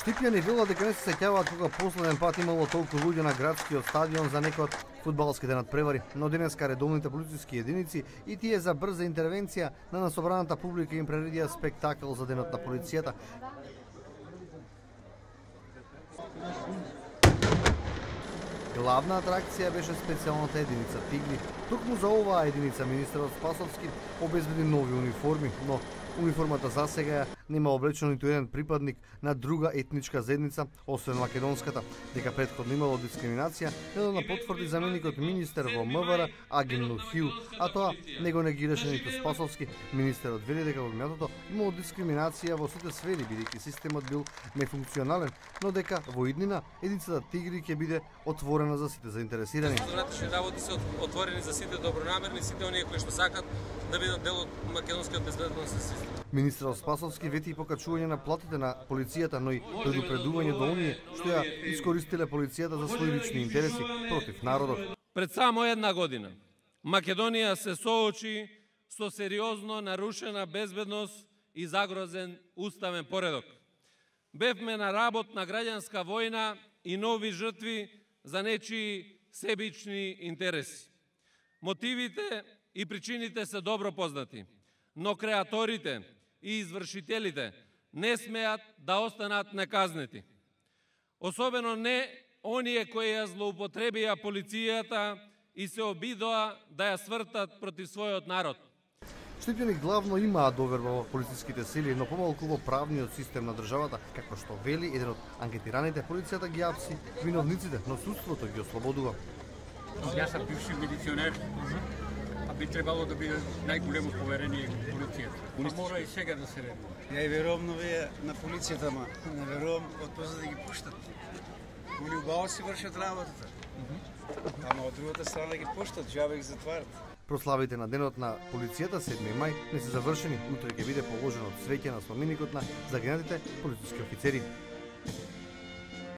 Штипјани велат дека не се сеќаваат кога последен пат имало толку луѓе на градскиот стадион за некој од фудбалските надпревари, но денеска редовните полициски единици и тие за брза интервенција на насобраната публика им прередија спектакл за денот на полицијата. Главна атракција беше специјалната единица Тигри. Токму за оваа единица министерот Спасовски обезбеди нови униформи, но униформата засега нема облечено ниту еден припадник на друга етничка заедница, освен македонската. Дека претходно имало дискриминација, недавно потврди заменикот министер во МВР Агин Нухиу, а тоа не го негираше ниту Спасовски. Министерот вели дека во минатото имало дискриминација во сите сфери, бидејќи системот бил нефункционален, но дека во иднина единицата Тигри ќе биде отворена за сите заинтересирани. Внатрешни работи се отворени за сите добронамерни, сите оние кои што сакат да бидат дел од македонскиот безбедносен систем. Министерот Спасовски вети и покачување на платите на полицијата, но и предупредување до оние што ја искористиле полицијата за своји лични интереси против народот. Пред само една година Македонија се соочи со сериозно нарушена безбедност и загрозен уставен поредок. Бевме на работ на граѓанска војна и нови жртви за нечии себични интереси. Мотивите и причините се добро познати, но креаторите и извршителите не смеат да останат неказнети. Особено не оние кои ја злоупотребија полицијата и се обидоа да ја свртат против својот народ. Штипјани главно имаат доверба во полициските сили, но помалку во правниот систем на државата, како што вели еден од анкетираните, полицијата ги апси виновниците, но судството ги ослободува. Јас сум бивши милиционер, а би требало да биде најголемо поверение во полицијата. Мора и сега да се редува. Ја и верувам на полицијата, ма не верувам од позад да ги пуштат. Они убаво си вршат работата. Ама од другата страна ги пуштат, џабе ги затварат. Прославите на денот на полицијата 7 мај не се завршени. Утре ќе биде положено цвеќе на споменикот на загинатите полициски офицери.